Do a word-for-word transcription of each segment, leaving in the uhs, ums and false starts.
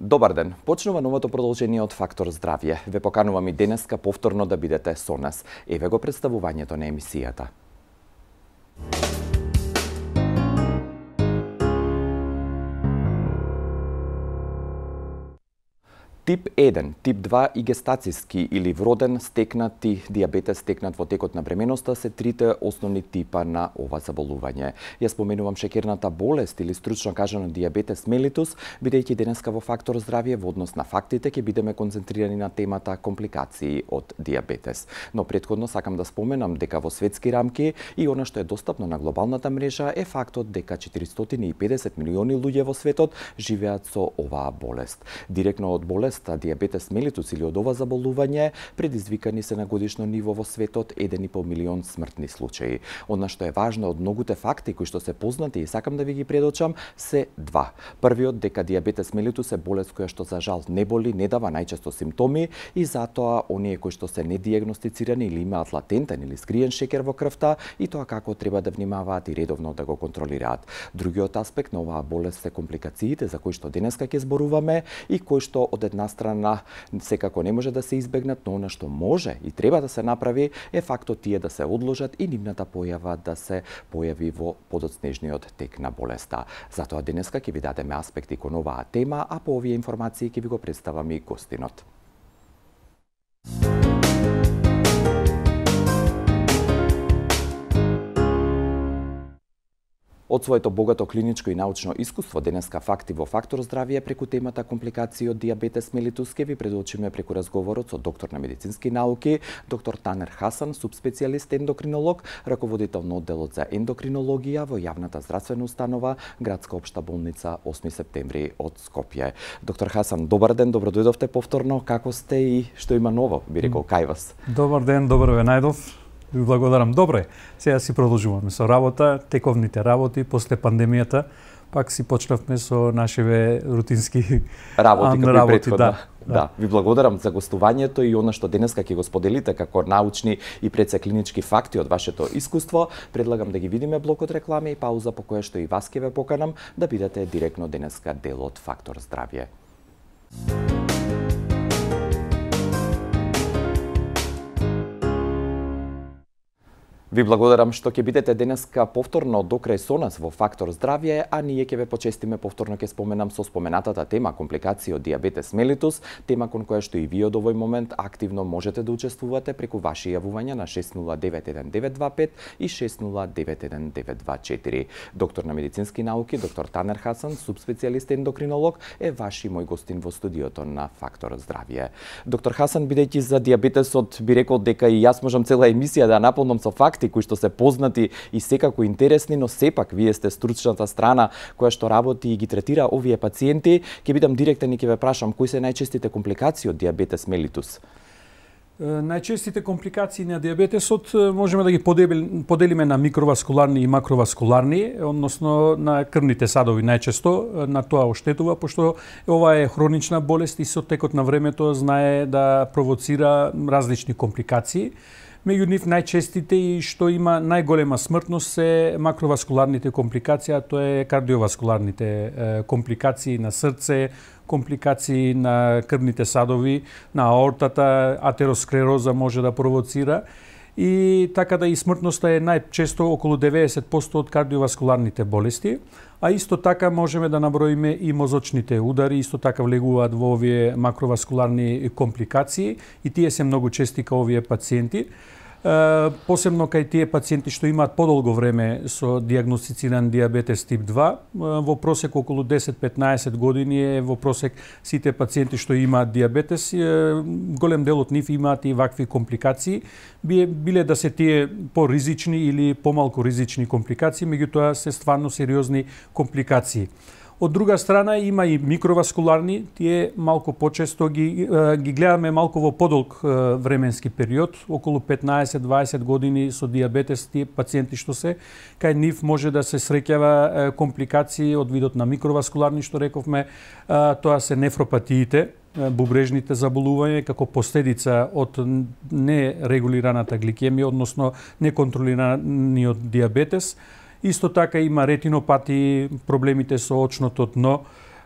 Добар ден. Почнува новото продолжение од Фактор здравје. Ве поканувам и денеска повторно да бидете со нас. Еве го представувањето на емисијата. Тип еден, тип два и гестацијски или вроден стекнати дијабетес стекнат во текот на бременоста се трите основни типа на ова заболување. Ја споменувам шеќерната болест или стручно кажано дијабетес мелитус, бидејќи денеска во Фактор здравје во однос на фактите ќе бидеме концентрирани на темата компликации од дијабетес. Но претходно сакам да споменам дека во светски рамки и она што е достапно на глобалната мрежа е фактот дека четиристотини и педесет милиони луѓе во светот живеат со оваа болест. Директно од болест дијабетес мелитус или од ова заболување предизвикани се на годишно ниво во светот еден и пол милион смртни случаи. Она што е важно од многуте факти кои што се познати и сакам да ви ги предочам се два. Првиот дека дијабетес мелитус е болест која што за жал не боли, не дава најчесто симптоми и затоа оние кои што се недијагностицирани или имаат латентен или скриен шеќер во крвта и тоа како треба да внимаваат и редовно да го контролираат. Другиот аспект на оваа болест се компликациите за кои што денеска ќе зборуваме и кои што од една страна секако не може да се избегнат, но она што може и треба да се направи е фактот тие да се одложат и нивната појава да се појави во подоцнежниот тек на болеста. Затоа денеска ќе ви дадеме аспекти кон оваа тема, а по овие информации ќе ви го представам и гостинот. Од своето богато клиничко и научно искуство денеска факти во Фактор здравје преку темата компликации од дијабетес мелитус ќе ви предочиме преку разговорот со доктор на медицински науки, доктор Танер Хасан, субспецијалист ендокринолог, раководител на одделот за ендокринологија во јавната здравствена установа Градска општа болница осми септември од Скопје. Доктор Хасан, добар ден, добро дојдовте повторно. Како сте и што има ново, би рекол, кај вас? Добар ден, добро ве најдов. Ви благодарам. Добре, сега си продолжуваме со работа, тековните работи после пандемијата. Пак си почнавме со нашиве рутински работи, како и претходно. Да, да. да, ви благодарам за гостувањето и она што денеска ќе го споделите како научни и пред се клинички факти од вашето искуство. Предлагам да ги видиме блокот реклами и пауза по која што и вас ќе ве поканам да бидете директно денеска дел од Фактор здравје. Ви благодарам што ќе бидете денеска повторно докрај со нас во Фактор здравје, а ние ќе ве почестиме повторно ќе споменам со споменатата тема компликации од дијабетес мелитус, тема кон која што и вие од овој момент активно можете да учествувате преку ваши јавувања на шест нула девет еден девет два пет и шест нула девет еден девет два четири. Доктор на медицински науки, доктор Танер Хасан, субспецијалист ендокринолог, е ваш и мој гостин во студиото на Фактор здравје. Доктор Хасан, бидејќи за дијабетесот би рекол дека и јас можам цела емисија да наполнам со факти кои што се познати и секако интересни, но сепак вие сте стручната страна која што работи и ги третира овие пациенти. Ќе бидам директен и ќе ве прашам кои се најчестите компликации од дијабетес мелитус? Најчестите компликации на дијабетесот можеме да ги поделиме на микроваскуларни и макроваскуларни, односно на крвните садови најчесто, на тоа оштетува, пошто ова е хронична болест и со текот на времето знае да провоцира различни компликации. Меѓу нив најчестите и што има најголема смртност се макроваскуларните компликации, а тоа е кардиоваскуларните компликации на срце, компликации на крвните садови, на аортата, атеросклероза може да провоцира. И така да и смртноста е најчесто околу деветдесет проценти од кардиоваскуларните болести, а исто така можеме да наброиме и мозочните удари, исто така влегуваат во овие макроваскуларни компликации и тие се многу чести кај овие пациенти. Посебно кај тие пациенти што имаат подолго време со дијагностициран дијабетес тип два, во просек околу десет до петнаесет години е во просек сите пациенти што имаат дијабетес, голем дел од нив имаат и вакви компликации, биле да се тие поризични или помалку ризични компликации, меѓутоа се стварно сериозни компликации. Од друга страна има и микроваскуларни, тие малку почесто ги, ги гледаме малку во подолг временски период, околу петнаесет до дваесет години со дијабетес, тие пациенти што се, кај нив може да се среќава компликации од видот на микроваскуларни, што рековме, тоа се нефропатиите, бубрежните заболувања како последица од нерегулираната гликемија, односно неконтролираниот дијабетес. Исто така има ретинопати, проблемите со очното дно,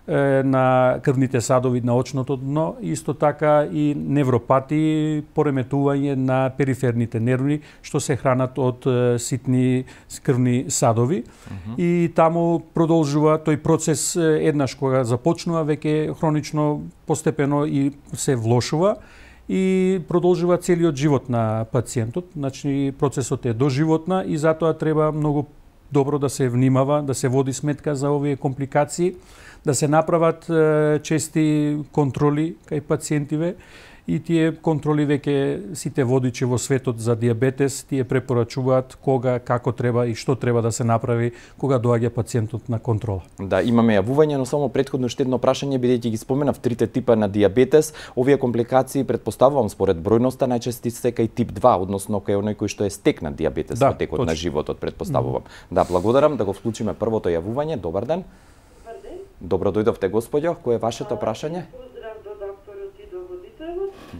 на крвните садови на очното дно, исто така и невропати, пореметување на периферните нерви, што се хранат од ситни крвни садови. Mm-hmm. И таму продолжува тој процес еднаш кога започнува, веќе хронично, постепено и се влошува и продолжува целиот живот на пациентот. Значи, процесот е доживотна и затоа треба многу добро да се внимава, да се води сметка за овие компликации, да се направат е, чести контроли кај пациентиве и тие контроли веќе сите водичи во светот за диабетес тие препорачуваат кога, како треба и што треба да се направи кога доаѓа пациентот на контрола. Да, имаме јавување, но само претходно уште едно прашање, бидејќи ги споменав трите типа на диабетес, овие компликации предпоставувам според бројноста најчести се кај тип два, односно кај оној кој што е стекнат диабетес да, во текот точно на животот, предпоставувам. Mm-hmm. Да, благодарам, да го вклучиме првото јавување. Добар ден. Добар ден. Добро дојдовте, господјо. Кој е вашето прашање?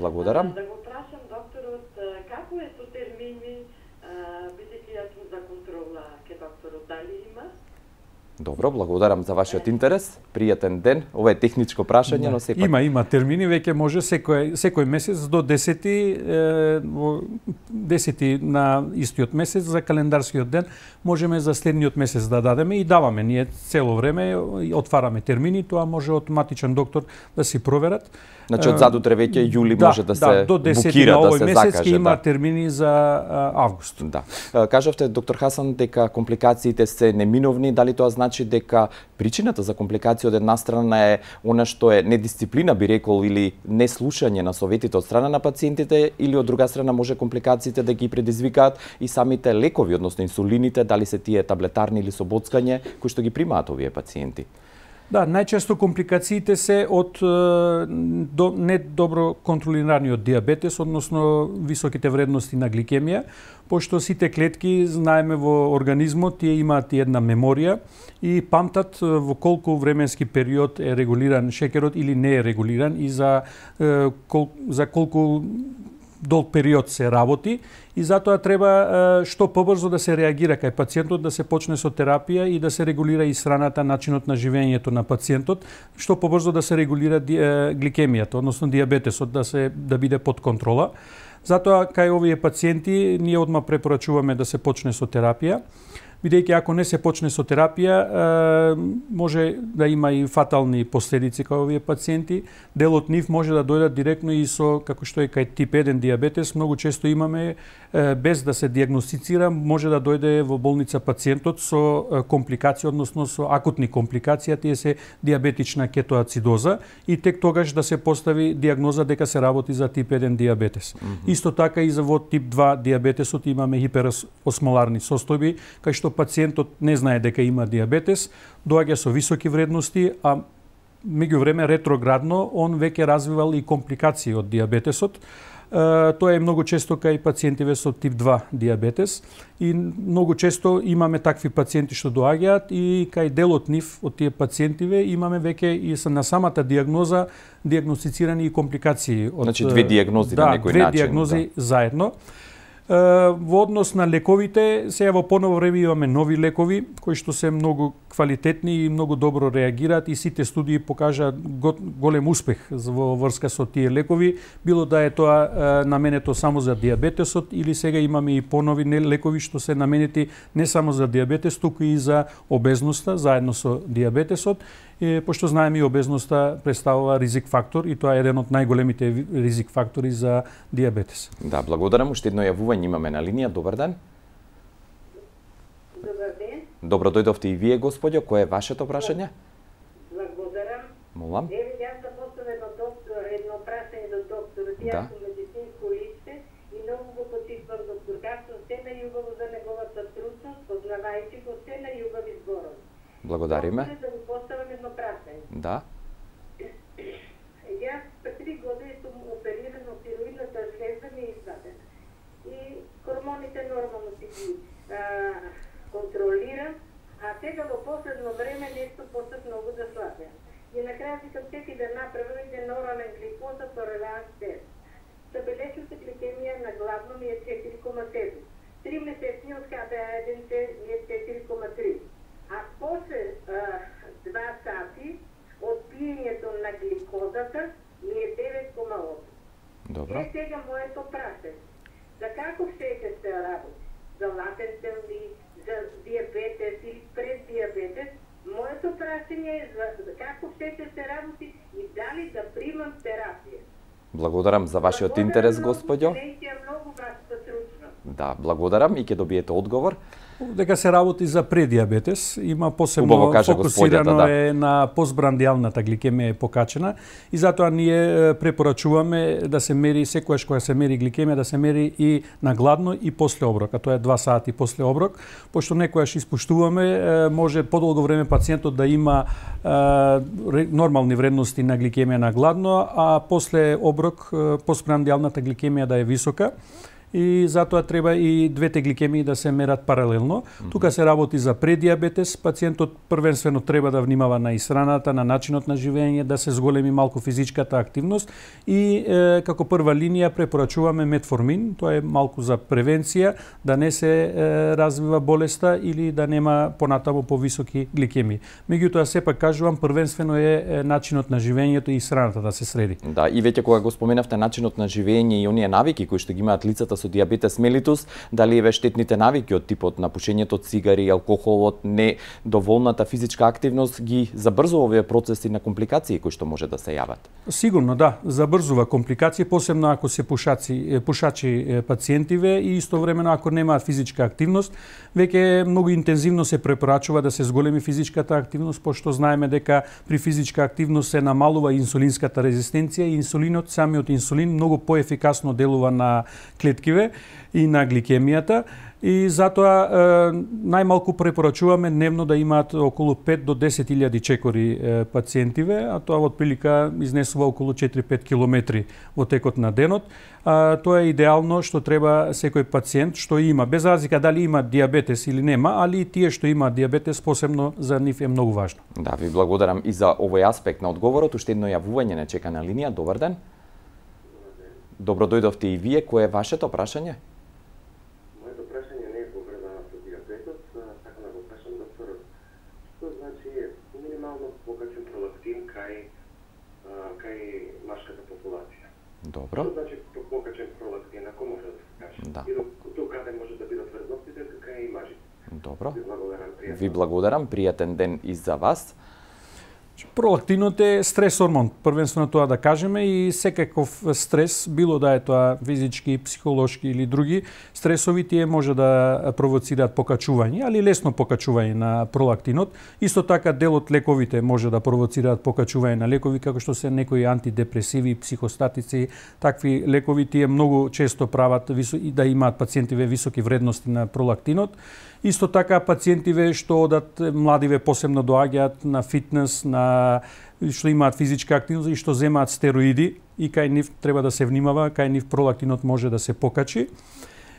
Благодарам. Да го прашам докторот како е со термини, бидејќи јас сум за контрола ке докторот, дали има? Добро, благодарам за вашиот интерес. Пријатен ден. Ова е техничко прашање, да, но сепак има има термини, веќе може секој секој месец до десети е, десети на истиот месец за календарскиот ден можеме за следниот месец да дадеме и даваме ние цело време отвараме термини, тоа може автоматичен доктор да си проверат. Значи од задутре веќе јули да, може да, да се до букира, на да овој се месец закаже. Има да. термини за а, август. Да. Кажавте, доктор Хасан, дека компликациите се неминовни. Дали тоа значи дека причината за компликација од една страна е она што е недисциплина, би рекол, или неслушање на советите од страна на пациентите, или од друга страна може компликациите да ги предизвикаат и самите лекови, односно инсулините, дали се тие таблетарни или со боцкање, кои што ги примаат овие пациенти? Да, најчесто компликациите се од до, недобро контролираниот диабетес, односно високите вредности на гликемија, пошто сите клетки, знаеме во организмот, тие имаат една меморија и памтат во колку временски период е регулиран шекерот или не е регулиран и за, кол, за колку долг период се работи и затоа треба што побрзо да се реагира кај пациентот, да се почне со терапија и да се регулира и сраната, начинот на живењето на пациентот, што побрзо да се регулира гликемијата, односно диабетесот да се да биде под контрола. Затоа кај овие пациенти ние одма препорачуваме да се почне со терапија, бидејќи ако не се почне со терапија, може да има и фатални последици кај овие пациенти. Дел од нив може да дојдат директно и со, како што е кај тип еден диабетес, многу често имаме, без да се диагностицира, може да дојде во болница пациентот со компликација, односно со акутни компликации, тие се диабетична кетоацидоза и тек тогаш да се постави диагноза дека се работи за тип еден диабетес. Mm-hmm. Исто така и за во тип два диабетесот имаме хиперосмоларни состојби, кај што пациентот не знае дека има диабетес, доаѓа со високи вредности, а меѓувреме ретроградно он веќе развивал и компликации од диабетесот. Тоа е многу често кај пациентиве со тип два диабетес и многу често имаме такви пациенти што доаѓаат и кај дел од нив од тие пациентиве имаме веќе и на самата диагноза диагностицирани и компликации од Значи две диагнози да, на некој две начин. две диагнози да. заедно. Во однос на лековите, сега во поново време имаме нови лекови кои што се многу квалитетни и многу добро реагираат и сите студии покажаат голем успех во врска со тие лекови, било да е тоа наменето само за диабетесот или сега имаме и понови лекови што се наменети не само за диабетес, туку и за обезноста заедно со диабетесот. Е, пошто знаеме и обезноста представува ризик фактор и тоа е еден од најголемите ризик фактори за диабетес. Да, благодарам. Уште едно јавување имаме на линија. Добар ден. Добар ден. Добро дојдовте и вие, господјо. Кое е вашето прашање? Благодарам. Молам. Еве, јас да поставам едно доктор, едно прашање до докторот. Да. Јас сум медицинско лице и многу го почитувам доктор Хасан, се најубаво за неговата трудност, познавајќи го се најубави зборови. Благодариме. Да го поставам едно прашање. Да. Јас пред три години сум опериран од тироидната жлеза ми е извадена. И хормоните нормално си ги а, контролирам, а сега во последно време нешто почнав многу да слабеам. И на крај викам секи да направам еден орален гликоза толеранс тест. Забележната гликемија на главно ми е четири кома седум. Три месечниот Х Б А еден ми е четири кома три. А после а, два сати од пиењето на гликозата ми е девет кома осум. Добро. Е сега моето прашање. За каков шеќер се работи? За латентен ли, за диабетес или преддиабетес? Моето прашање е за, за каков шеќер се работи и дали да примам терапија. Благодарам за вашиот интерес, господјо. Многу вашата стручност. Да, благодарам и ќе добиете одговор. Дека се работи за предиабетес, има посебно кажа, фокусирано да. е на постбрандијалната гликемија е покачена и затоа ние препорачуваме да се мери секогаш кога се мери гликемија да се мери и на гладно и после оброк, а тоа е два сати после оброк, пошто некојаш испуштуваме, може подолго време пациентот да има нормални вредности на гликемија на гладно, а после оброк постбрандијалната гликемија да е висока. И затоа треба и двете гликемии да се мерат паралелно. Mm-hmm. Тука се работи за предиабетес, пациентот првенствено треба да внимава на исхраната, на начинот на живење, да се зголеми малку физичката активност и е, како прва линија препорачуваме метформин, тоа е малку за превенција, да не се е, развива болеста или да нема понатаму повисоки гликемии. Меѓутоа сепак кажувам првенствено е, е начинот на живењето и исхраната да се среди. Да, и веќе кога го споменавте начинот на живење и оние навики кои што ги имаат лицата со диабетес мелитус, дали еве штетните навики од типот на пушењето цигари, алкохолот, недоволната физичка активност ги забрзува овие процеси на компликации кои што може да се јават? Сигурно да, забрзува компликации, посебно ако се пушаци, пушачи пациентиве и истовремено ако немаат физичка активност, веќе многу интензивно се препорачува да се зголеми физичката активност, пошто знаеме дека при физичка активност се намалува инсулинската резистенција и инсулинот, самиот инсулин многу поефикасно делува на клетки и на гликемијата и затоа е, најмалку препорачуваме дневно да имаат околу пет до десет илјади чекори е, пациентиве, а тоа од прилика изнесува околу четири-пет километри во текот на денот. А, тоа е идеално што треба секој пациент што има, без разлика дали има диабетес или нема, али и тие што имаат диабетес посебно за нив е многу важно. Да, ви благодарам и за овој аспект на одговорот. Уште едно јавување не чека на линија. Добар ден. Добро дојдовте и вие. Кое е вашето прашање? Моето прашање не е поврзано со диабетот, сакам да го прашам докторот. Што значи минимално покачен пролактин кај кај машката популација? Добро. Што значи покачен пролактин, ако може да се каже? Да. И до каде може да бидат вредностите кај и мажите? Добро. Ви благодарам, пријатен. Ви благодарам, пријатен ден и за вас. Пролактинот е стрес хормон, првенствено тоа да кажеме, и секаков стрес, било да е тоа физички, психолошки или други стресови, тие може да провоцираат покачување, али лесно покачување на пролактинот. Исто така дел од лековите може да провоцираат покачување на лекови, како што се некои антидепресиви, психостатици, такви лекови, тие многу често прават и да имаат пациентиве високи вредности на пролактинот. Исто така пациентиве што одат, младиве посебно доаѓаат на фитнес, на што имаат физичка активност и што земаат стероиди, и кај нив треба да се внимава, кај нив пролактинот може да се покачи.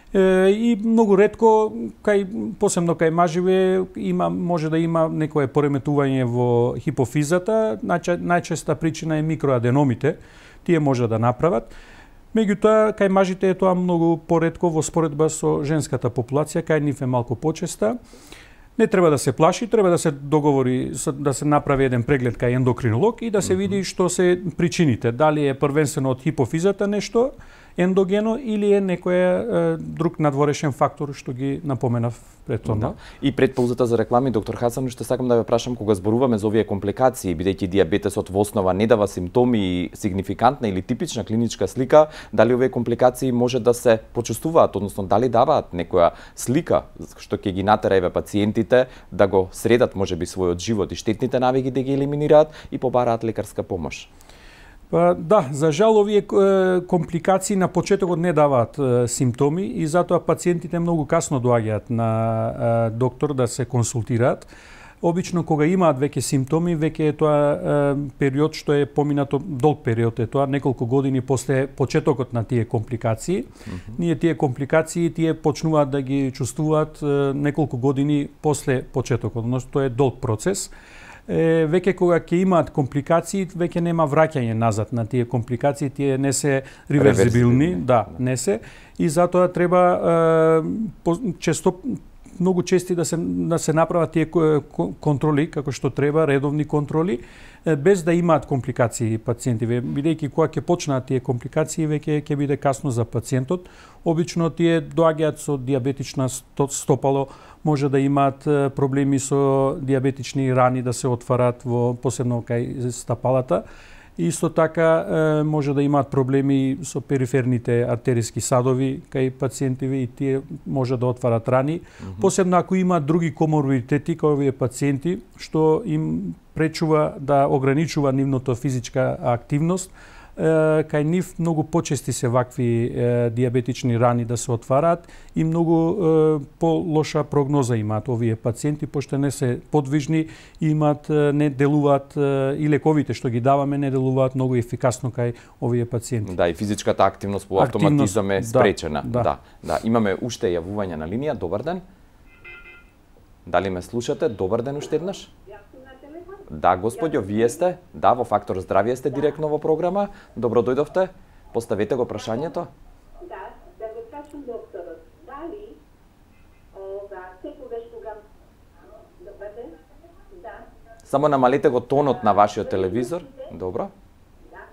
Е, и многу ретко кај посебно кај маживе има може да има некое пореметување во хипофизата, најче, најчеста причина е микроаденомите, тие може да направат. Меѓутоа, кај мажите е тоа многу поретко во споредба со женската популација, кај нив е малку почеста. Не треба да се плаши, треба да се договори, да се направи еден преглед кај ендокринолог и да се види што се причините. Дали е првенствено од хипофизата нешто ендогено или е некој е, друг надворешен фактор што ги напоменав претходно. Да. И пред паузата за реклами, доктор Хасан, што сакам да ве прашам, кога зборуваме за овие компликации, бидејќи диабетесот во основа не дава симптоми и сигнификантна или типична клиничка слика, дали овие компликации може да се почувствуваат, односно дали даваат некоја слика што ќе ги натера еве пациентите да го средат можеби својот живот и штетните навики да ги елиминираат и побараат лекарска помош? Па, да, за жал овие е, компликации на почетокот не даваат е, симптоми и затоа пациентите многу касно доаѓаат на е, доктор да се консултираат. Обично кога имаат веќе симптоми, веќе е тоа е, период што е поминато, долг период е тоа, неколку години после почетокот на тие компликации. Mm-hmm. Ние тие компликации тие почнуваат да ги чувствуваат е, неколку години после почетокот, но тоа е долг процес. Е, веќе кога ќе имаат компликации, веќе нема враќање назад на тие компликации, тие не се реверзибилни, да, не се, и затоа треба е, по, често многу чести да се да се направат тие контроли како што треба, редовни контроли, без да имаат компликации пациентиве, бидејќи кога ќе почнат тие компликации веќе ќе биде касно за пациентот. Обично тие доаѓаат со диабетична стопало, може да имаат проблеми со диабетични рани да се отварат во посебно кај стапалата. Исто така може да имаат проблеми со периферните артериски садови кај пациентиве и тие може да отварат рани. Mm-hmm. Посебно ако имаат други коморбидитети кај овие пациенти што им пречува да ограничува нивното физичка активност, кај нив многу почести се вакви е, диабетични рани да се отвараат и многу е, по-лоша прогноза имаат овие пациенти, пошто не се подвижни и имаат, не делуваат е, и лековите што ги даваме не делуваат многу ефикасно кај овие пациенти. Да, и физичката активност по автоматизам е спречена. Да, да, да. Имаме уште јавување на линија. Добар ден. Дали ме слушате? Добар ден уште еднаш. Да, господјо, вие сте? Да, во Фактор здравје сте директно во програма. Добро дојдовте. Поставете го прашањето. Да, да го прашам докторот. Дали ова секогаш кога добар ден? Да. Само намалете го тонот на вашиот телевизор. Добро. Да.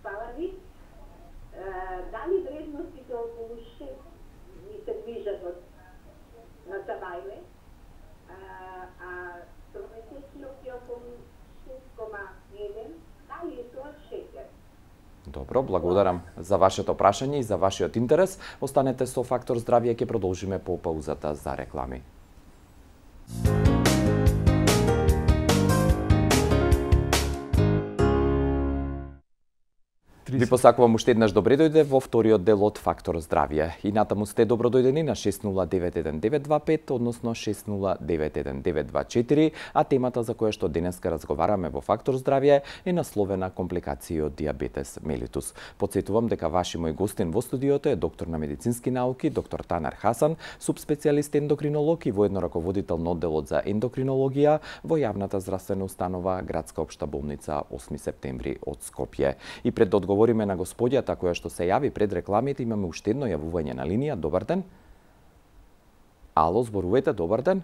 Фала ви. Дали вредностите околу шест ми се движат од на Сабајле? А тромесечниот е околу шест кома еден, дали е тоа шекер? Добро, благодарам за вашето прашање и за вашиот интерес. Останете со Фактор здравје, ќе продолжиме по паузата за реклами. Ви посакувам уште еднаш добре дојде во вториот дел од Фактор здравје. И натаму сте добро дојдени на шест нула девет еден девет два пет, односно шест нула девет еден девет два четири, а темата за која што денеска разговараме во Фактор здравје е насловена компликации од диабетес мелитус. Потсетувам дека ваши мој гостин во студиото е доктор на медицински науки, доктор Танер Хасан, субспецијалист ендокринолог и воедно раководител на одделот за ендокринологија во јавната здравствена установа Градска општа болница осми септември од Скопје. И пред да одговориме на господјата која што се јави пред рекламите, имаме уште едно јавување на линија. Добар ден. Ало, зборувате, добар ден.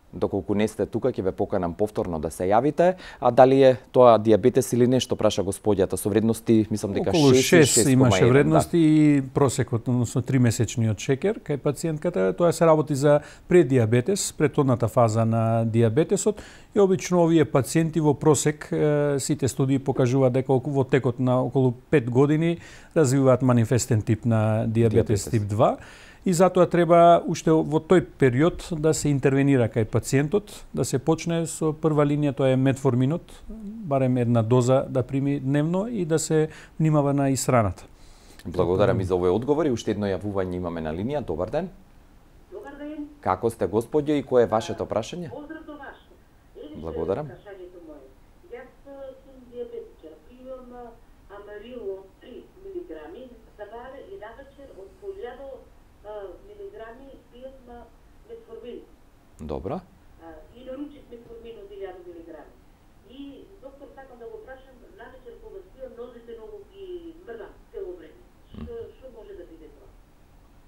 Доколку не сте тука, ќе ве поканам повторно да се јавите. А дали е тоа диабетес или нешто, праша господјата, со вредности, мислам дека околу шест, шест имаше вредности, да. И просекот, односно тримесечниот шекер кај пациентката, тоа се работи за преддиабетес, предходната фаза на диабетесот, и обично овие пациенти во просек сите студии покажуваат дека во текот на околу пет години развиваат манифестен тип на диабетес, диабетес. тип два. И затоа треба уште во тој период да се интервенира кај пациентот, да се почне со прва линија, тоа е метформинот, барем една доза да прими дневно и да се внимава на исхраната. Благодарам и за овој одговор и уште едно јавување имаме на линија. Добар ден. Добар ден. Како сте, господјо, и кое е вашето прашање? Поздрав до ваше. Благодарам. Прашањето моје. Јас сум диабетичар, пивам амарило три милиграми, сабаре и навечер од по илјада милиграми пијам метформин. Добро. И наручив метформин од илјада милиграми. И доктор, сакам да го прашам, навечер кога спијам, нозите многу ги мрдам цело време. Што што може да биде тоа?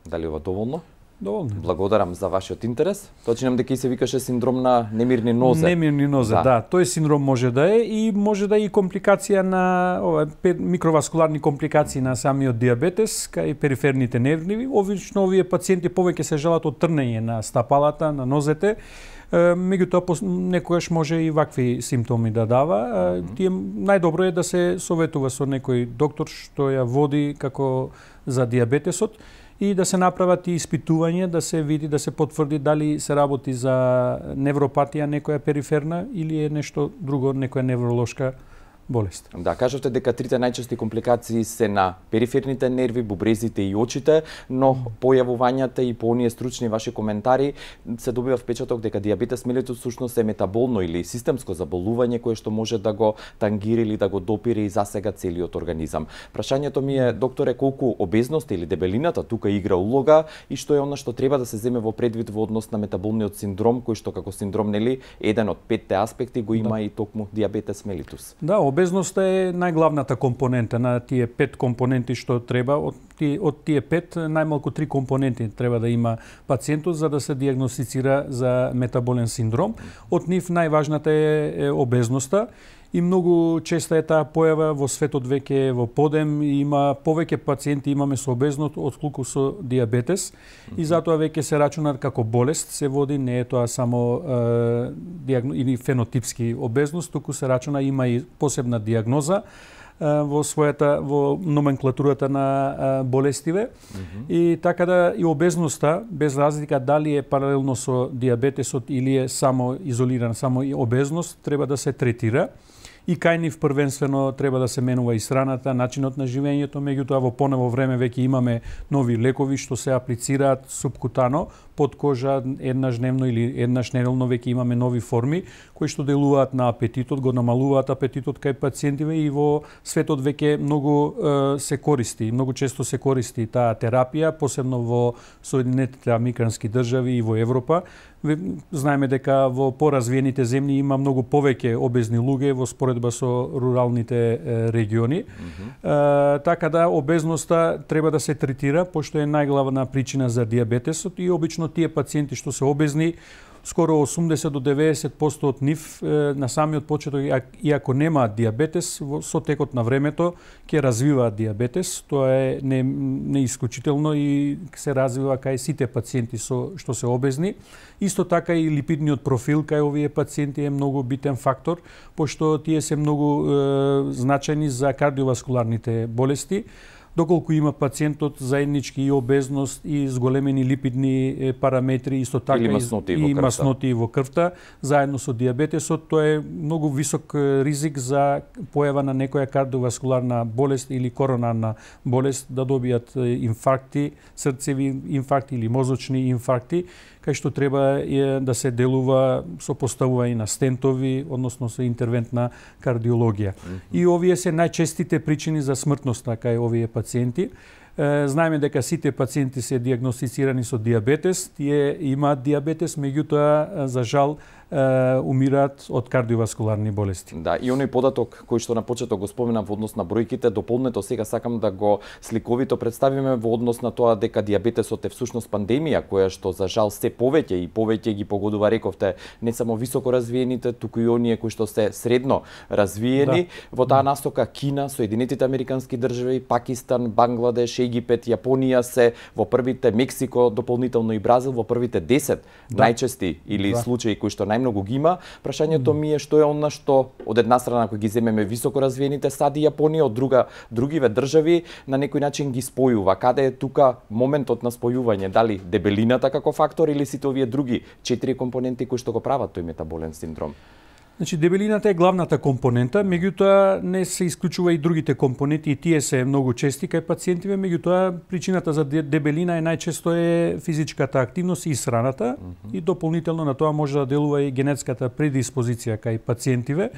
Дали ова доволно? Доволно. Благодарам за вашиот интерес. Точнам дека и се викаше синдром на немирни нозе. Немирни нозе, да. да. Тој синдром може да е и може да е и компликација на ова микроваскуларни компликации на самиот диабетес кај периферните нерви. Обично овие пациенти повеќе се жалат од трнење на стапалата, на нозете. Меѓутоа некогаш може и вакви симптоми да дава. Mm-hmm. Тие најдобро е да се советува со некој доктор што ја води како за диабетесот и да се направат и испитување, да се види, да се потврди дали се работи за невропатија некоја периферна или е нешто друго, некоја невролошка болест. Да, кажавте дека трите најчести компликации се на периферните нерви, бубрезите и очите, но појавувањата и по оние стручни ваши коментари се добива впечаток дека диабетес мелитус всушност е метаболно или системско заболување кое што може да го тангира или да го допире и засега целиот организам. Прашањето ми е, докторе, колку обезност или дебелината тука игра улога и што е она што треба да се земе во предвид во однос на метаболниот синдром, кој што како синдром, нели, еден од петте аспекти го има, да. И токму диабетес мелитус. Да, обезноста е најглавната компонента на тие пет компоненти што треба. Од тие, од тие пет, најмалку три компоненти треба да има пациентот за да се диагностицира за метаболен синдром. Од нив најважната е, е обезноста. И многу честа е таа појава во светот веќе во подем и има повеќе пациенти имаме со обезност отколку со диабетес. Mm-hmm. И затоа веќе се рачуна како болест се води, не е тоа само е, диагно, или фенотипски обезност, туку се рачуна има и посебна диагноза во својата во номенклатурата на болестиве. Mm-hmm. И така да и обезноста без разлика дали е паралелно со диабетесот или е само изолиран, само и обезност треба да се третира. И кај нив првенствено треба да се менува исхраната, начинот на живењето, меѓутоа во понево време веќе имаме нови лекови што се аплицираат субкутано под кожа еднаш дневно или еднаш неделно, веќе имаме нови форми кои што делуваат на апетитот, го намалуваат апетитот кај пациентиве и во светот веќе многу е, се користи, многу често се користи таа терапија, посебно во Соединетите американски држави и во Европа. Знаеме дека во поразвиените земји има многу повеќе обезни луѓе во споредба со руралните региони. Mm-hmm. Е, така да обезноста треба да се третира, пошто е најглавна причина за диабетесот и обично тие пациенти што се обезни, скоро осумдесет до деветдесет проценти од нив на самиот почеток, иако немаат диабетес, со текот на времето ќе развиваат диабетес. Тоа е не, не исклучително и се развива кај сите пациенти со што се обезни. Исто така и липидниот профил кај овие пациенти е многу битен фактор, пошто тие се многу е, значајни за кардиоваскуларните болести. Доколку има пациентот заеднички и обезност и зголемени липидни параметри, исто така или масноти и, и масноти во крвта, заедно со диабетесот, тоа е многу висок ризик за појава на некоја кардиоваскуларна болест или коронарна болест, да добијат инфаркти, срцеви инфаркти или мозочни инфаркти, кај што треба е да се делува со поставување на стентови, односно со интервентна кардиологија. Mm-hmm. И овие се најчестите причини за смртност кај овие пациенти. Знаеме дека сите пациенти се диагностицирани со диабетес, тие имаат диабетес, меѓутоа за жал умираат од кардиоваскуларни болести. Да, и оној податок кој што на почеток го споменав во однос на бројките, дополнето сега сакам да го сликовито представиме во однос на тоа дека диабетесот е всушност пандемија која што за жал се повеќе и повеќе ги погодува, рековте, не само високо развиените, туку и оние кои што се средно развиени. Да. Во таа насока Кина, Соединетите американски држави, Пакистан, Бангладеш, Египет, Јапонија се во првите, Мексико дополнително и Бразил во првите десет да. најчести или да. случаи кои што најмногу ги има. Прашањето ми е што е она што од една страна кој ги земеме високо развиените САД и Јапонија, од друга другиве држави на некој начин ги спојува. Каде е тука моментот на спојување? Дали дебелината како фактор или сите овие други четири компоненти кои што го прават тој метаболен синдром? Значи, дебелината е главната компонента, меѓутоа не се исклучува и другите компоненти, и тие се многу чести кај пациентиве, меѓутоа причината за дебелина е најчесто е физичката активност и исхраната, mm-hmm. и дополнително на тоа може да делува и генетската предиспозиција кај пациентиве.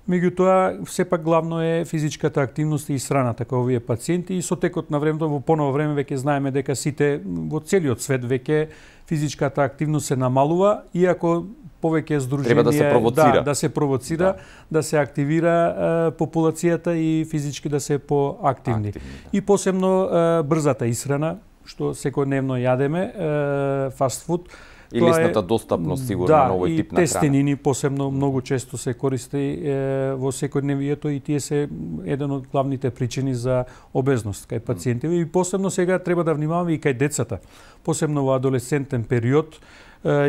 Меѓутоа, сепак главно е физичката активност и исхраната кај овие пациенти, и со текот на времето, во поново време веќе знаеме дека сите во целиот свет веќе физичката активност се намалува, иако повеќе здружение треба да се провоцира, да, да се провоцира, да, да се активира е, популацијата и физички да се поактивни. Активни, да. И посебно е, брзата исхрана, што секојдневно јадеме, е, фастфуд. И лесната достапност сигурно да, на овој тип на храна. Да, и тестенини посебно многу често се користи е, во секојдневието, и тие се еден од главните причини за обезност кај пациентите. И посебно сега треба да внимаваме и кај децата. Посебно во адолесцентен период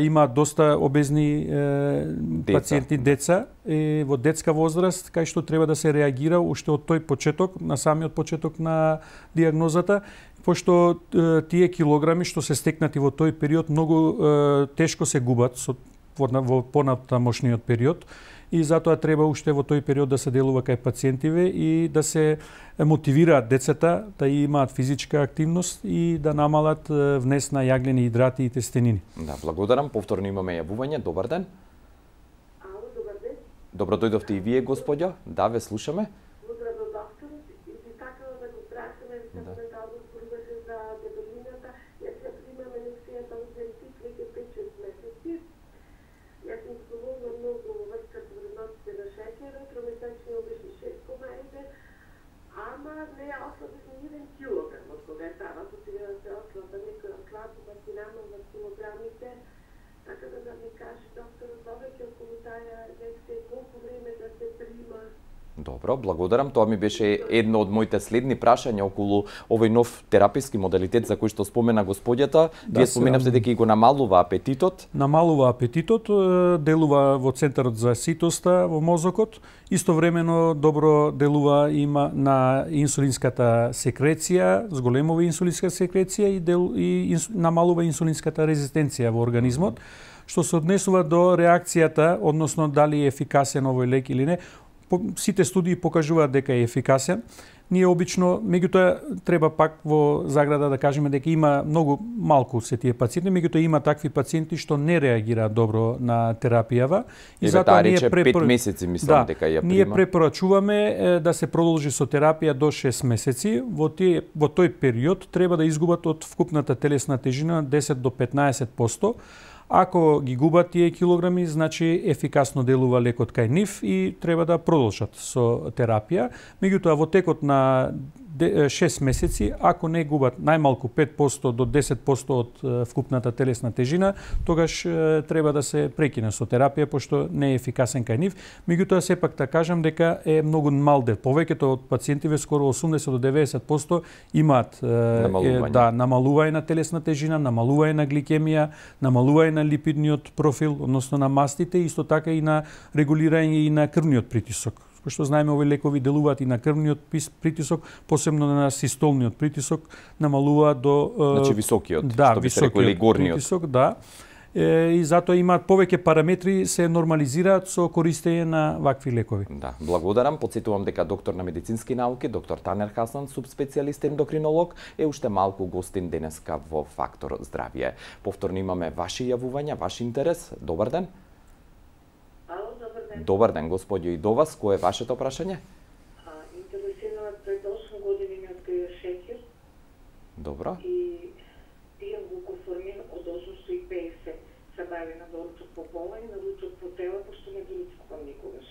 има доста обезни е, деца. пациенти, деца, е, во детска возраст, кај што треба да се реагира уште од тој почеток, на самиот почеток на диагнозата, пошто е, тие килограми што се стекнати во тој период многу е, тешко се губат со, во, во понатамошниот период, и затоа треба уште во тој период да се делува кај пациентиве и да се мотивираат децата да имаат физичка активност и да намалат внес на јаглени идрати и тестенини. Да, благодарам. Повторно имаме јавување. Добар ден. Ало, добар ден. Добро дојдовте и вие, господјо. Да, ве слушаме. Поздрав до докторот, и би сакала да го прашаме да зборуваше за дебелината. Јас ја примам инекцијата од Зентик веќе пет-шест месеци. Јас сум зборувала многу врска вредностите на шеќерот, тромесечни обични се ослаби за еден килограм од кога е тава, потреба да се ослаба некој од тлапоматинално килограмите, така да да ми каже докторот повеќе околу таа лекција колку време да се прима. Добро, благодарам. Тоа ми беше едно од моите следни прашања околу овој нов тераписки модалитет за кој што спомена господјата. Да, Вие споменавте дека и го намалува апетитот. Намалува апетитот, делува во центарот за ситоста во мозокот, истовремено добро делува има на инсулинската секреција, зголемува инсулинска секреција и, дел, и инс, намалува инсулинската резистенција во организмот, што се однесува до реакцијата, односно дали е ефикасен овој лек или не. Сите студии покажуваат дека е ефикасен. Ние обично, меѓутоа треба пак во заграда да кажеме дека има многу малку се тие пациенти, меѓутоа има такви пациенти што не реагираат добро на терапијава и затоа ние препор... пет месеци мислам да, дека ја прима. Ние препорачуваме е, да се продолжи со терапија до шест месеци. Во тие во тој период треба да изгубат од вкупната телесна тежина десет до петнаесет проценти. Ако ги губат тие килограми, значи ефикасно делува лекот кај нив и треба да продолжат со терапија. Меѓутоа во текот на шест месеци, ако не губат најмалку пет проценти до десет проценти од вкупната телесна тежина, тогаш треба да се прекине со терапија, пошто не е ефикасен кај нив. Меѓутоа, сепак да кажам дека е многу мал дел. Повеќето од пациентиве, скоро осумдесет до деведесет проценти, имаат намалување. Да, намалување на телесна тежина, намалување на гликемија, намалување на липидниот профил, односно на мастите, исто така и на регулирање и на крвниот притисок. Што знаеме, овои лекови делуваат и на крвниот притисок, посебно на систолниот притисок, намалуваат до значи високиот, да, што би се рекол горниот притисок, да. И затоа имаат повеќе параметри, се нормализираат со користење на вакви лекови. Да, благодарам. Потсетувам дека доктор на медицински науки, доктор Танер Хасан, субспецијалист ендокринолог, е уште малку гостин денеска во Фактор Здравје. Повторно имаме ваши јавувања, ваш интерес. Добар ден. Добар ден, господјо, и до вас. Кој е вашето прашање? Интересирано пред осум години ми открија шеќер. Добро. И пијам глукоформин од осумстотини и педесет. Се бави на доручок по пола и на ручок по тела, пошто не доручкувам никогаш.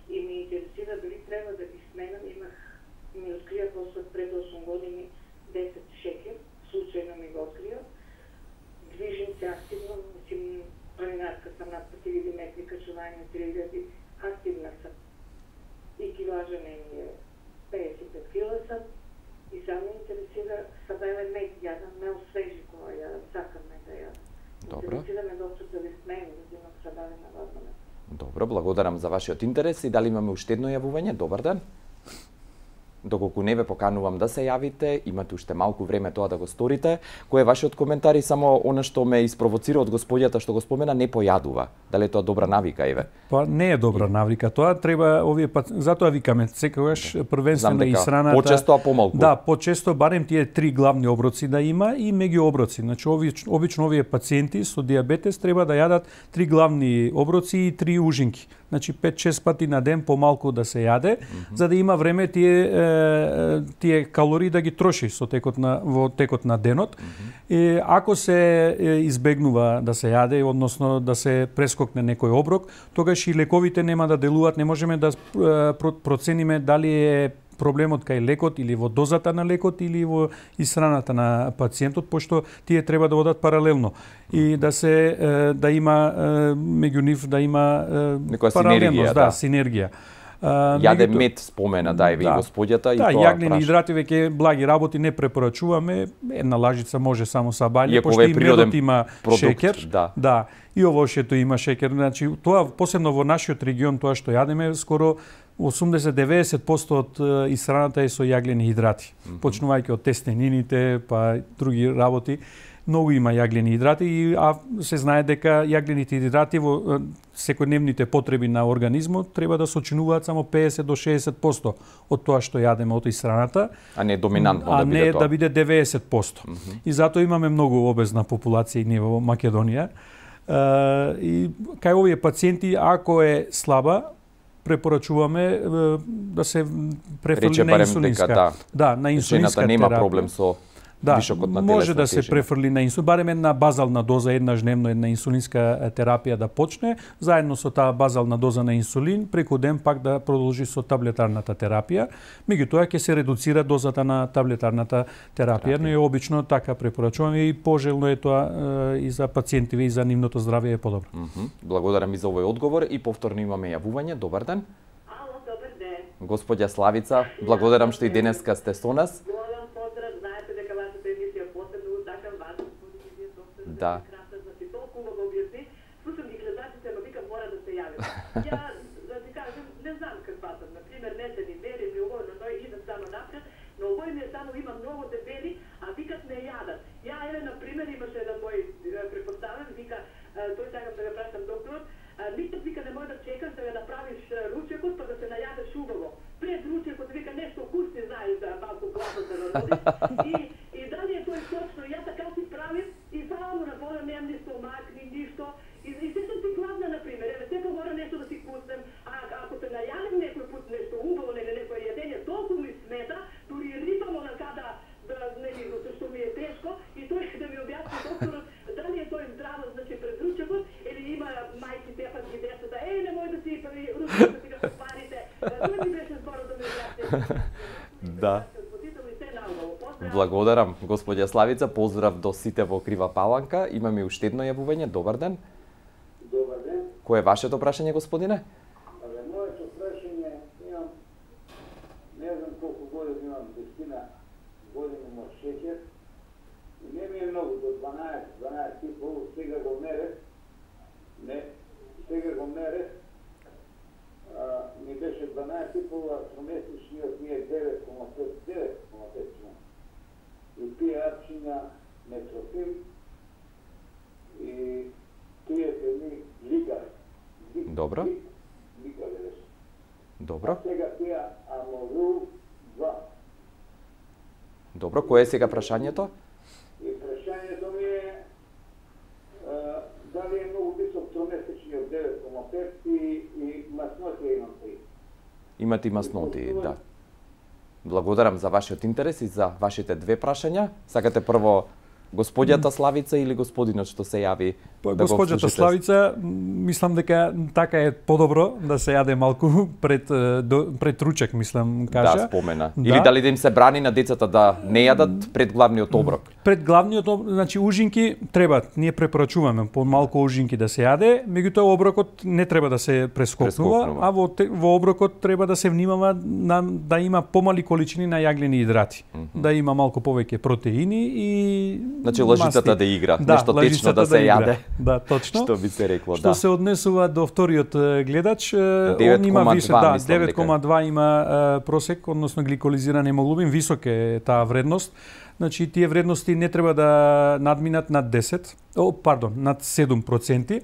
И ми интересира дали треба да ги сменам. Имах, ми открија после пред осум години десет шеќер. Случајно ми го открија. Движим се активно, мислим, планинарка сам над пет илјади метри, качување три илјади, активна сам. И килажа не ми е педесет и пет кила сам. И само интересира сабеле мед, јадам мел свежи која јадам, сакам мед да јадам. Добро. Интересира ме доктор да ви смеем да имам сабеле на вадно мед. Добро, благодарам за вашиот интерес и дали имаме уште едно јавување? Добар ден. Доколку не ве поканувам да се јавите, имате уште малку време тоа да го сторите. Кој е вашиот коментар и само она што ме испровоцира од господјата што го спомена, не појадува. Дали е тоа добра навика, еве? Па не е добра навика. Тоа треба овие пат... затоа викаме секогаш првенствено и сраната. Почесто а помалку. Да, почесто барем тие три главни оброци да има и меѓуоброци. Значи обично, обично овие пациенти со дијабетес треба да јадат три главни оброци и три ужинки. Значи пет-шест пати на ден помалку да се јаде, mm -hmm. за да има време тие тие калории да ги троши со текот на во текот на денот. Mm -hmm. И ако се избегнува да се јаде, односно да се прескокне некој оброк, тогаш и лековите нема да делуваат, не можеме да процениме дали е проблемот кај лекот или во дозата на лекот или во исхраната на пациентот, пошто тие треба да одат паралелно и да се да има меѓу нив да има паралелност, да, синергија. Јаде мед спомена, да, и да, господјата и да, тоа. Да, јаглени идрати веќе благи работи не препорачуваме. Една лажица може само са баље, пошто и медот има шеќер. Да. да. И овошето има шеќер. Значи, тоа посебно во нашиот регион, тоа што јадеме, скоро осумдесет до деведесет проценти од исхраната е со јаглени идрати. Mm -hmm. Почнувајќи од тестенините, па други работи. Многу има јаглени идрати и а се знае дека јаглените идрати во секојдневните потреби на организмот треба да сочинуваат само педесет до шеесет проценти од тоа што јадеме од исхраната, а не доминантно а да биде не тоа. да биде деведесет проценти. Mm -hmm. И затоа имаме многу обезна популација и ние во Македонија. Uh, и кај овие пациенти, ако е слаба, препорачуваме да се префрли на инсулинска. Дека, да, да, на инсулинска жената нема терапија. проблем со Да, вишокот на телесна може да се тежина. префрли на инсулин, барем една базална доза еднаш дневно, една инсулинска терапија да почне, заедно со таа базална доза на инсулин, преку ден пак да продолжи со таблетарната терапија. Меѓутоа ќе се редуцира дозата на таблетарната терапија, но е обично така препорачуваме и пожелно е тоа и за пациентиве и за нивното здравје е подобро. Mm -hmm. Благодарам и за овој одговор и повторно имаме јавување. Добар ден. Ало, добар ден. Господја Славица, благодарам што и денеска сте со нас. Голем поздрав, знаете дека вашата емисија посебно утакам вас, господин вие доктор. Да. Красна, значи толку го објасни. Слушам ги гледачите, ама викам мора да се јавим. Ја да ти кажам, не знам каква сум, на пример не се ни вери ми ово, но тој идам само напред, но овој ми е само има многу дебели, а викат не јадат. Ја еве на пример имаше еден мој препоставен, вика тој сакам да го прашам докторот, никад вика не може да чекаш да ја направиш ручекот па да се најадеш убаво. Пред ручекот вика нешто вкусни знаеш да малку гласот да народиш. И и дали е тој точно, ја така си правим и само на вода немам ни стомак ни ништо. И, и се сум ти гладна на пример, еве сега мора нешто да си пуснем, а ако се најадам некој пат нешто убаво или некој јадење толку ми смета, дури рипам онака да да не ми го што ми е тешко и тој да ми објасни докторот дали е тој здраво значи пред ручекот или има мајки тепат ги децата, е немој да си ручекот да си го парите. Тој ми беше зборот да ми објасни. Да. Благодарам, господја Славица, поздрав до сите во Крива Паланка. Имаме уште едно јавување. Добар ден. Добар ден. Кој е вашето прашање, господине? Абе, моето прашање, имам, не знам колку години имам, десетина години имам шеќер. И не ми е многу, до дванаесет, дванаесет и пол, сега го мерев. Не, сега го мерев. А, ми беше дванаесет и пол, а тромесечниот ми е девет кома пет, девет кома пет. И тие арчиња метрофим и тие се ми лигари. Добро. Лигари беше. Добро. А сега тие аморул два. Добро, кое е сега прашањето? И прашањето ми е а, дали е многу висок тромесечниот девет кома пет и, и маснотија имам три. Имате и масноти, да. Благодарам за вашиот интерес и за вашите две прашања. Сакате прво господјата Славица или господинот што се јави? Па, да господјата Славица, мислам дека така е подобро да се јаде малку пред до, пред ручек, мислам, кажа. Да, спомена. Да. Или дали да им се брани на децата да не јадат пред главниот оброк? Пред главниот оброк, значи ужинки треба, ние препорачуваме по малку ужинки да се јаде, меѓутоа оброкот не треба да се прескокнува, Прескокнува. а во, во оброкот треба да се внимава на, да има помали количини на јаглени идрати, mm -hmm. да има малку повеќе протеини и Значи лажицата масти. да игра, да, нешто течно да се игра. јаде. Да, точно. Што би се рекло, Што да. се однесува до вториот е, гледач, е, он има висок, да, девет кома два има е, просек, односно гликолизиран емоглобин, висок е таа вредност. Значи тие вредности не треба да надминат над десет, о, пардон, над седум проценти.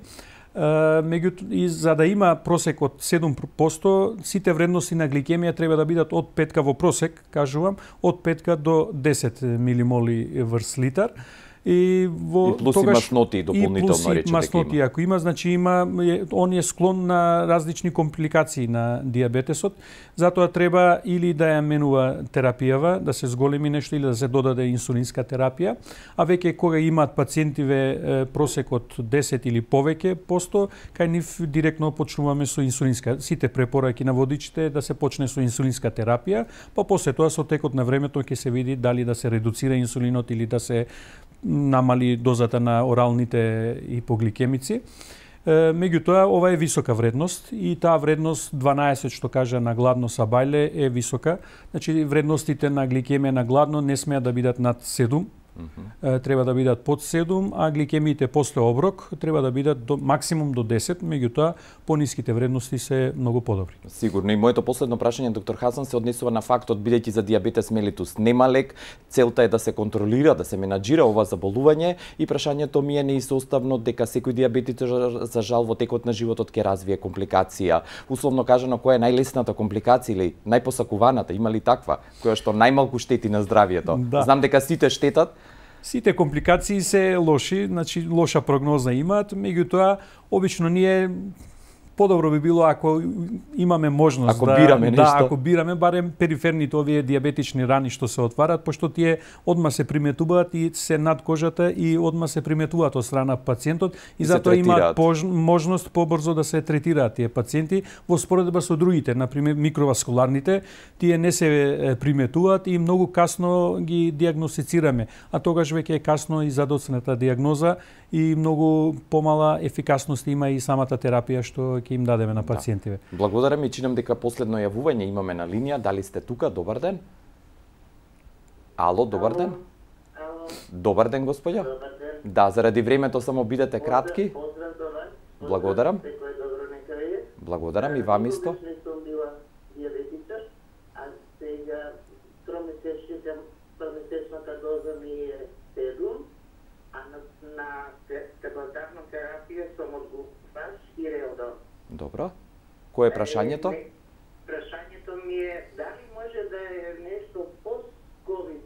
Меѓутоа и за да има просек од седум проценти, сите вредности на гликемија треба да бидат од петка во просек, кажувам, од петка до десет милимоли врз литар. И во и плюс тогаш, и масноти дополнително и плюс и речете масноти, има. ако има, значи има он е склон на различни компликации на диабетесот, затоа треба или да ја менува терапијава, да се зголеми нешто или да се додаде инсулинска терапија, а веќе кога имаат пациентиве просек од десет или повеќе посто, кај нив директно почнуваме со инсулинска. Сите препораки на водичите е да се почне со инсулинска терапија, па после тоа со текот на времето ќе се види дали да се редуцира инсулинот или да се намали дозата на оралните ипогликемици. Меѓутоа, ова е висока вредност и таа вредност дванаесет што кажа на гладно са бајле е висока. Значи вредностите на гликемија на гладно не смеат да бидат над седум. Mm-hmm. Треба да бидат под седум, а гликемиите после оброк треба да бидат до максимум до десет, меѓутоа пониските вредности се многу подобри. Сигурно и моето последно прашање, доктор Хасан, се однесува на фактот бидејќи за диабетес мелитус нема лек, целта е да се контролира, да се менаџира ова заболување и прашањето ми е неисоставно дека секој диабетик за жал во текот на животот ќе развие компликација. Условно кажано, која е најлесната компликација или најпосакуваната, има ли таква, која што најмалку штети на здравието? Да. Знам дека сите штетат. Сите компликации се лоши, значи лоша прогноза имаат, меѓутоа обично ние подобро би било ако имаме можност ако да бираме да нешто. ако бираме барем периферните овие диабетични рани што се отварат, пошто тие одма се приметуваат и се над кожата и одма се приметуваат од страна пациентот и, И затоа имаат третираат. можност побрзо да се третираат тие пациенти во споредба со другите, на пример микроваскуларните, тие не се приметуваат и многу касно ги диагностицираме, а тогаш веќе е касно и за доцната диагноза и многу помала ефикасност има и самата терапија што ќе им дадеме на пациентиве. Да. Благодарам и чинам дека последно јавување имаме на линија. Дали сте тука? Добар ден. Ало, добар ден. Ало, Добар ден, господја. добар ден. Да, заради времето само бидете кратки. Поздрав до вас. Благодарам. Секој добро нека е. Благодарам и вам исто. Не сум била диабетичар, а сега тромесечната тромесечната доза ми е седум, а на, на таблетарна терапија сум од глупаш и реодон. Добро. Кој е прашањето? Е, Прашањето ми е дали може да е нешто пост-ковид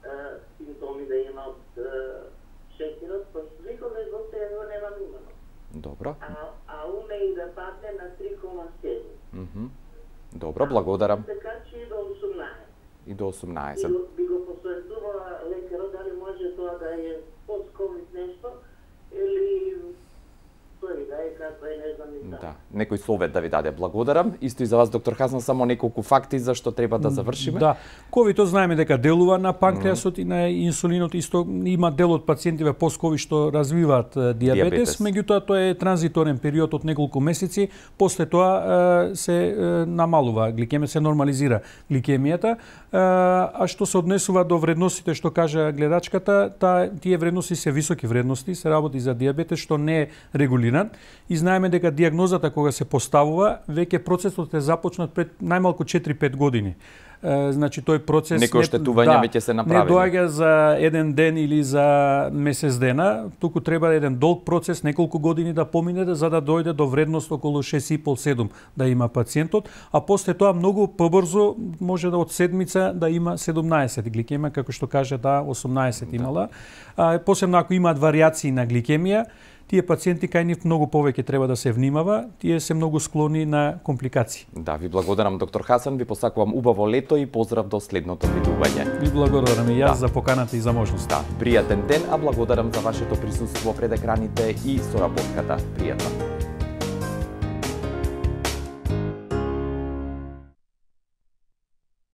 е, симптоми да има од е, шеќерот, пошто никогаш во сега го немам имано. Добро. А, а уме и да падне на три кома седум. Мгм. Добро, благодарам. Така че и до осумнаесет. И до И осумнаесет. го- би го посоветувала лекарот дали може тоа да е пост-ковид нешто или тој да е како е, не знам ни Да, да. некој совет да ви даде. Благодарам. Исто и за вас, доктор Хасан, само неколку факти за што треба да завршиме. Да, ковидот знаеме дека делува на панкреасот mm. и на инсулинот, исто има дел од пациентиве пост-ковид што развиваат е, диабетес, Диабетес. меѓутоа тоа е транзиторен период од неколку месеци, после тоа е, се е, намалува гликемија, се нормализира гликемијата, е, а што се однесува до вредностите што кажа гледачката, та тие вредности се високи вредности, се работи за диабетес што не е регулиран и знаеме дека диагнозата кога се поставува, веќе процесот е започнат пред најмалку четири-пет години. Е, значи тој процес Некои оштетувања веќе се направени. Не доаѓа за еден ден или за месец дена, туку треба еден долг процес, неколку години да помине за да дојде до вредност околу шест и пол до седум да има пациентот, а после тоа многу побрзо може да од седмица да има седумнаесет гликемија, како што каже да осумнаесет имала. А, посебно ако имаат варијации на гликемија, тие пациенти кај нив многу повеќе треба да се внимава, тие се многу склони на компликации. Да, ви благодарам, доктор Хасан, ви посакувам убаво лето и поздрав до следното видување. Ви благодарам и јас Да. за поканата и за можноста. Да, пријатен ден, а благодарам за вашето присуство пред екраните и соработката. Пријатно.